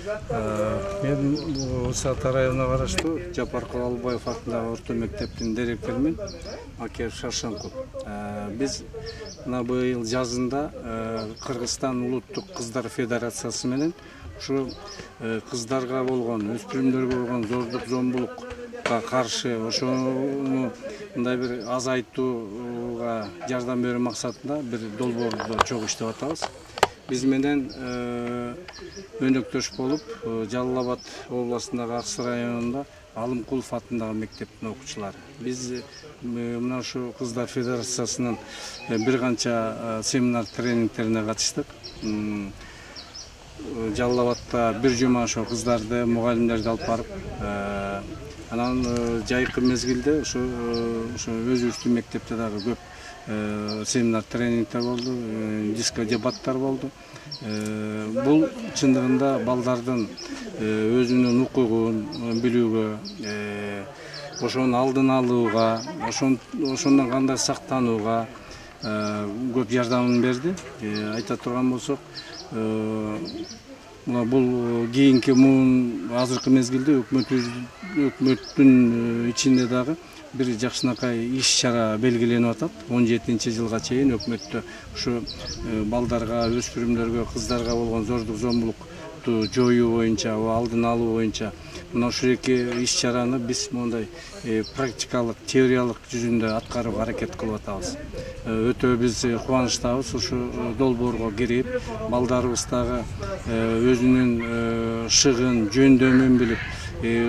Мен Усат районуна караштуу Жапар Куралбаев атындагы орто мектептин директорумун Акер Шаршенков. Биз мына быйыл жазында Кыргызстан улуттук кыздар федерациясы менен ушу кыздарга болгон, өспүрүмдөргө болгон зордук зомбулукка каршы ошону мындай бир азайтууга жардам берүү максатында бир долбоорду чогуу иштеп атабыз. Биз менен өнөктөш болуп, Жалал Абад областындагы Аксы районунда Алымкулов атындагы мектептин окуучулары. Биз мына ушу кыздар федерациясынын бир канча семинар тренингтерине катыштык. Жалал Абадта бир жума ошо кыздарды, мугалимдерди алып барып, анан жайкы мезгилде ошо өзүбүздүн мектепте дагы көп семинар тренингтер болду, диско дебаттар болду. Бул чындыгында балдардын өзүнүн укугун билүүгө, ошонун алдын алууга, ошондон кандай сактанууга көп жардамын берди. Айта турган болсок, бул кийинки муун азыркы мезгилде өкмөттүн ичинде дагы бир жакшынакай иш-чара белгиленип атат. 17-жылга чейин өкмөттө ушу балдарга, өспүрүмдөргө, кыздарга болгон зордук зомбулукту жоюу боюнча, алдын алуу боюнча мына ушул эки иш-чараны биз мондай практикалык, теориялык жүзүндө аткарууга аракет кылып атабыз. Өтө биз кубанычтабыз ушу долбоорго кирип, балдарыбыз дагы өзүнүн шыгын, жөндөмүн билип,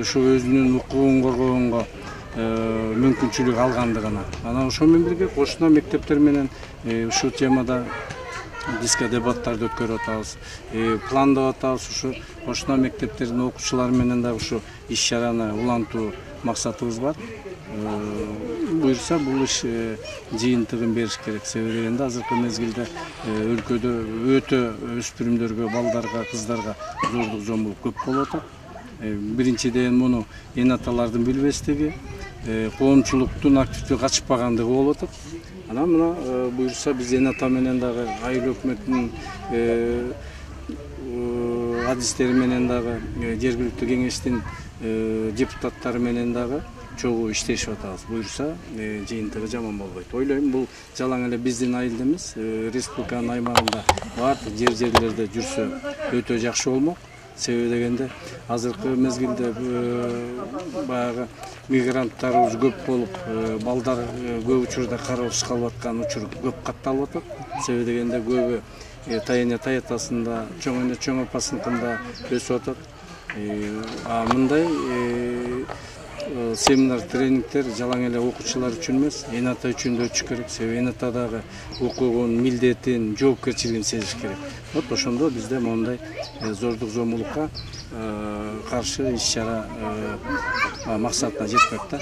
ушу өзүнүн укугун коргогонго мүмкүнчүлүк алгандыгына. Анан ошол менен бирге кошуна мектептер менен ушул темада диско дебаттарды өткөрүп атабыз. Пландап атабыз ушу кошуна мектептердин окуучулары менен дагы ушу иш-чараны улантуу максатыбыз бар. Буюрса бул иш жыйынтыгын бериш керек. Себеби дегенде азыркы мезгилде өлкөдө өтө өспүрүмдөргө, балдарга, кыздарга зордук зомбулук көп болуп атат. Биринчиден муну эн аталардын билбестиги, коомчулуктун активдүү качпагандыгы болуп атат. Анан мына буюрса биз эн ата менен дагы айыл өкмөтүнүн адистери менен дагы жергиликтүү кеңештин депутаттары менен дагы чогуу иштешип атабыз. Буюрса жыйынтыгы жаман болбойт. Ойлойм, бул жалаң эле биздин айылда эмес, республиканын аймагында баардык жерлерде жүрсө өтө жакшы болмок. Себеби дегенде азыркы мезгилде баягы мигранттарыбыз көп болуп, балдар көп учурда кароосуз калып аткан учур көп катталып атат. Себеби дегенде көбү таяня таятасында, чоң эне чоң апасыныкында өсүп атат. Мындай семинар тренингтер жалаң эле окуучулар үчүн эмес, эн ата үчүн да өтүш керек. Себеби эн ата дагы укугун, милдетин, жоопкерчилигин сезиш керек. Вот ошондо бизде мондай зордук зомбулукка каршы иш-чара максатына жетпек да.